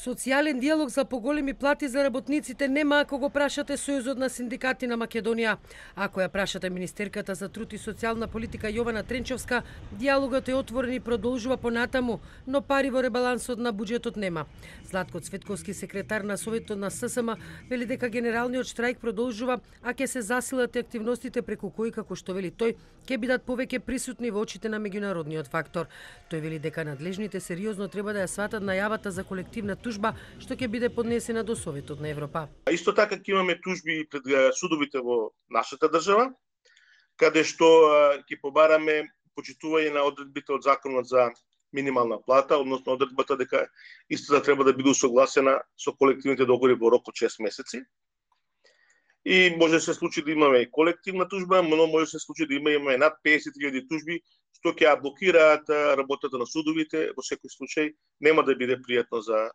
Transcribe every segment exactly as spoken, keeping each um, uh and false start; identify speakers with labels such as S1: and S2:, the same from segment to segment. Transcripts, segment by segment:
S1: Социјален диалог за поголеми плати за работниците нема ако го прашате Сојузот на синдикати на Македонија. Ако ја прашате министерката за труд и социјална политика Јована Тренчовска, диалогот е отворен и продолжува понатаму, но пари во ребалансот на буџетот нема. Златко Цветковски, секретар на Советот на ССМ, вели дека генералниот штрајк продолжува, а ќе се засилат активностите преку кои, како што вели тој, ќе бидат повеќе присутни во очите на меѓународниот фактор. Тој вели дека надлежните сериозно треба да ја сватат најавата за колективна тужба што ќе биде поднесена до Советот на Европа.
S2: Исто така ќе имаме тужби пред судовите во нашата држава, каде што ќе побараме почитување на одредбите од законот за минимална плата, односно одредбата дека истата треба да биде усогласена со колективните договори во рок од шест месеци. И може да се случи да имаме и колективна тужба, но може да се случи да имаме над песет илјади тужби што ќе ја блокираат работата на судовите. Во секој случај нема да биде пријатно за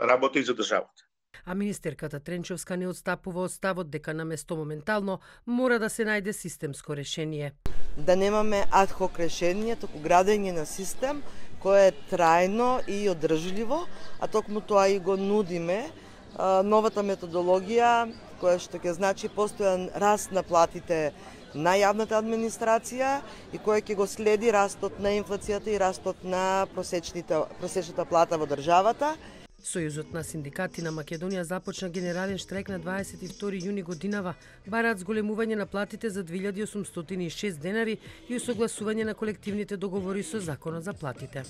S2: работа и за државата.
S1: А министерката Тренчовска не отстапува од ставот дека наместо моментално мора да се најде системско решение.
S3: Да немаме адхок решение, туку градење на систем кој е трајно и одржливо, а токму тоа и го нудиме новата методологија која што ќе значи постојан раст на платите на јавната администрација и која ќе го следи растот на инфлацијата и растот на просечната плата во државата.
S1: Сојузот на синдикати на Македонија започна генерален штрајк на дваесет и втори јуни годинава, бараат зголемување на платите за две илјади осумстотини и шест денари и усогласување на колективните договори со законот за платите.